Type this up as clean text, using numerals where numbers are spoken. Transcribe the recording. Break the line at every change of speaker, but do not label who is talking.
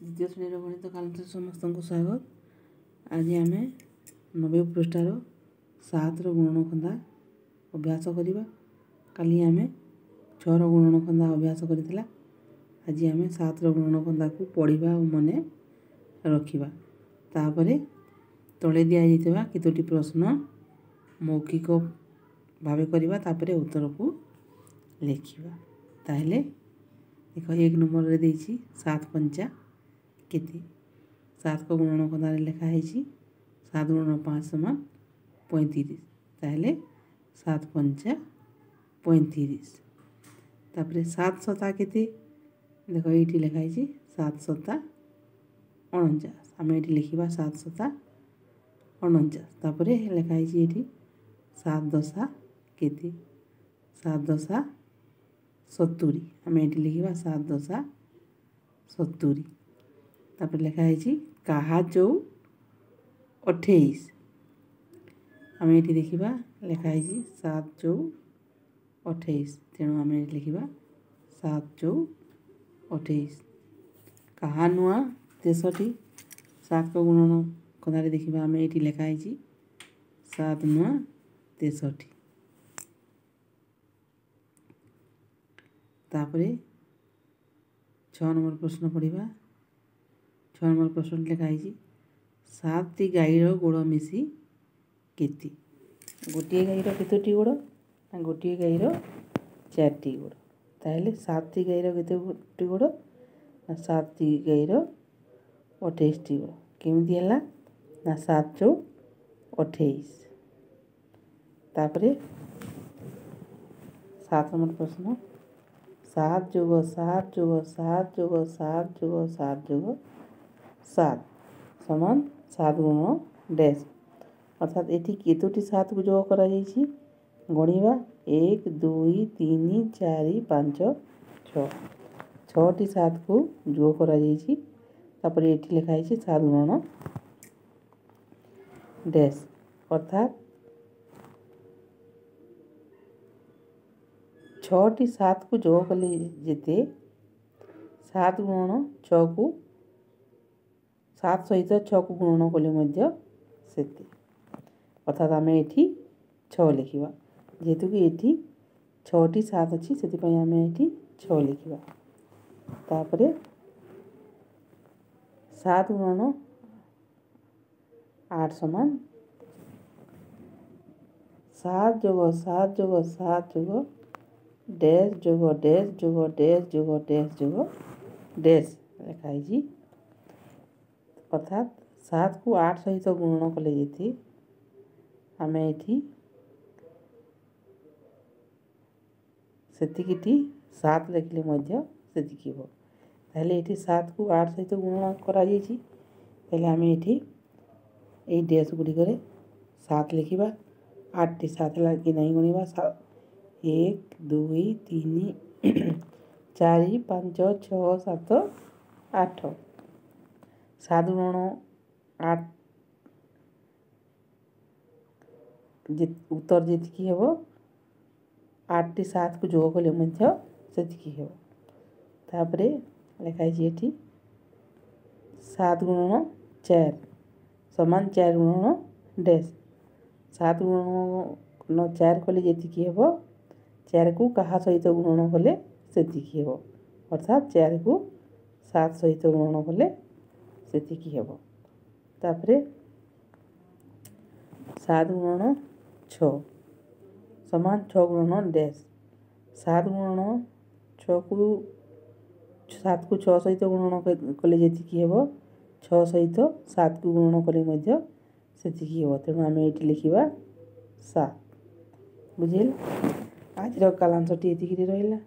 ଦ୍ୱିତୀୟ ଶ୍ରେଣୀର ଗଣିତ କାଲାଂଶରେ ସମସ୍ତଙ୍କୁ ସ୍ୱାଗତ। ଆଜି ଆମେ 90 ପୃଷ୍ଠାର 7ର ଗୁଣନଖନ୍ଦା ଅଭ୍ୟାସ କରିବା। କାଲି ଆମେ 6ର ଗୁଣନଖନ୍ଦା ଅଭ୍ୟାସ କରିଥିଲା। ଆଜି ଆମେ 7ର ଗୁଣନଖନ୍ଦାକୁ ପଢ଼ିବା ଓ ମନେ ରଖିବା। ତାପରେ ତଳେ ଦିଆଯାଇଥିବା କେତୋଟି ପ୍ରଶ୍ନ ମୌଖିକ ଭାବେ କରିବା, ତାପରେ ଉତ୍ତରକୁ ଲେଖିବା। ତାହେଲେ ଦେଖ, 1 ନମ୍ବରରେ ଦେଇଛି 7 ପଞ୍ଚା କେତେ? 7କ ଗୁଣନ ଖନ୍ଦାରେ ଲେଖା ହେଇଛି 7 ଗୁଣନ 5 ସମାନ 35। ତାହେଲେ 7 ପଞ୍ଚା 35। ତାପରେ 7 ଶତା କେତେ? ଦେଖ, ଏଇଠି ଲେଖା ହେଇଛି 7 ଶତା 49। ଆମେ ଏଇଠି ଲେଖିବା 7 ଶତା 49। ତାପରେ ଲେଖା ହେଇଛି ଏଇଠି 7 ଦଶା କେତେ? 7 ଦଶା 70। ଆମେ ଏଇଠି ଲେଖିବା 7 ଦଶା 70। ତାପରେ ଲେଖା ହେଇଛି କାହା ଚଉ 28? ଆମେ ଏଇଠି ଦେଖିବା ଲେଖା ହେଇଛି 7 ଚଉ 28, ତେଣୁ ଆମେ ଏଇଠି ଲେଖିବା 7 ଚଉ 28। କାହା ନୂଆ 63? 7କ ଗୁଣନ କଥାରେ ଦେଖିବା ଆମେ ଏଇଠି ଲେଖା ହେଇଛି 7 ନୂଆ 63। ତାପରେ 6 ନମ୍ବର ପ୍ରଶ୍ନ ପଢ଼ିବା। 6 ନମ୍ବର ପ୍ରଶ୍ନ ଲେଖା ହେଇଛି 7ଟି ଗାଈର ଗୋଡ଼ ମିଶି କେତେ? ଗୋଟିଏ ଗାଈର କେତୋଟି ଗୋଡ଼? ନା, ଗୋଟିଏ ଗାଈର 4ଟି ଗୋଡ଼। ତାହେଲେ 7ଟି ଗାଈର କେତୋଟି ଗୋଡ଼? ନା, 7ଟି ଗାଈର 28ଟି ଗୋଡ଼। କେମିତି ହେଲା? ନା, 7 ଚଉ 28। ତାପରେ 7 ନମ୍ବର ପ୍ରଶ୍ନ, 7 ଯୋଗ 7 ଯୋଗ 7 ଯୋଗ 7 ଯୋଗ 7 ଯୋଗ 7 ସମାନ 7 ଗୁଣ ଡ୍ୟାସ୍। ଅର୍ଥାତ୍ ଏଠି କେତୋଟି 7କୁ ଯୋଗ କରାଯାଇଛି ଗଣିବା। 1 2 3 4 5 6, 6ଟି 7କୁ ଯୋଗ କରାଯାଇଛି। ତାପରେ ଏଠି ଲେଖା ହେଇଛି 7 ଗୁଣନ ଡ୍ୟାସ୍, ଅର୍ଥାତ୍ 6ଟି 7କୁ ଯୋଗ କଲେ ଯେତେ, 7 ଗୁଣନ 6କୁ, 7 ସହିତ 6କୁ ଗୁଣନ କଲେ ମଧ୍ୟ ସେତେ। ଅର୍ଥାତ୍ ଆମେ ଏଠି 6 ଲେଖିବା। ଯେହେତୁ କି ଏଠି 6ଟି 7 ଅଛି, ସେଥିପାଇଁ ଆମେ ଏଠି 6 ଲେଖିବା। ତାପରେ 7 ଗୁଣନ 8 ସମାନ 7 ଯୋଗ 7 ଯୋଗ 7 ଯୋଗ ଡ୍ୟାସ୍ ଯୋଗ ଡ୍ୟାସ୍ ଯୋଗ ଡ୍ୟାସ୍ ଯୋଗ ଡ୍ୟାସ୍ ଯୋଗ ଡ୍ୟାସ୍ ଲେଖା ହେଇଛି। ଅର୍ଥାତ୍ 7କୁ 8 ସହିତ ଗୁଣନ କଲେ ଯେତେ, ଆମେ ଏଠି ସେତିକିଟି 7 ଲେଖିଲେ ମଧ୍ୟ ସେତିକି ହେବ। ତାହେଲେ ଏଠି 7କୁ 8 ସହିତ ଗୁଣନ କରାଯାଇଛି, ତାହେଲେ ଆମେ ଏଠି ଏଇ ଡ୍ୟାସ୍ ଗୁଡ଼ିକରେ 7 ଲେଖିବା। 8ଟି 7 ହେଲା କି ନାହିଁ ଗଣିବା। 1 2 3 4 5 6 7 8। 7 ଗୁଣନ 8 ଉତ୍ତର ଯେତିକି ହେବ, 8ଟି 7କୁ ଯୋଗ କଲେ ମଧ୍ୟ ସେତିକି ହେବ। ତାପରେ ଲେଖା ହେଇଛି ଏଠି 7 ଗୁଣନ 4 ସମାନ 4 ଗୁଣନ ଡ୍ୟାସ୍। 7 ଗୁଣନ 4 କଲେ ଯେତିକି ହେବ, 4କୁ କାହା ସହିତ ଗୁଣନ କଲେ ସେତିକି ହେବ। ଅର୍ଥାତ୍ 4କୁ 7 ସହିତ ଗୁଣନ କଲେ ସେତିକି ହେବ। ତାପରେ 7 ଗୁଣନ 6 ସମାନ 6 ଗୁଣନ ଡ୍ୟାସ୍। 7 ଗୁଣନ 6କୁ, 7କୁ 6 ସହିତ ଗୁଣନ କଲେ ଯେତିକି ହେବ, 6 ସହିତ 7କୁ ଗୁଣନ କଲେ ମଧ୍ୟ ସେତିକି ହେବ। ତେଣୁ ଆମେ ଏଇଠି ଲେଖିବା 7। ବୁଝିଲ? ଆଜିର କାଲାଂଶଟି ଏତିକିରେ ରହିଲା।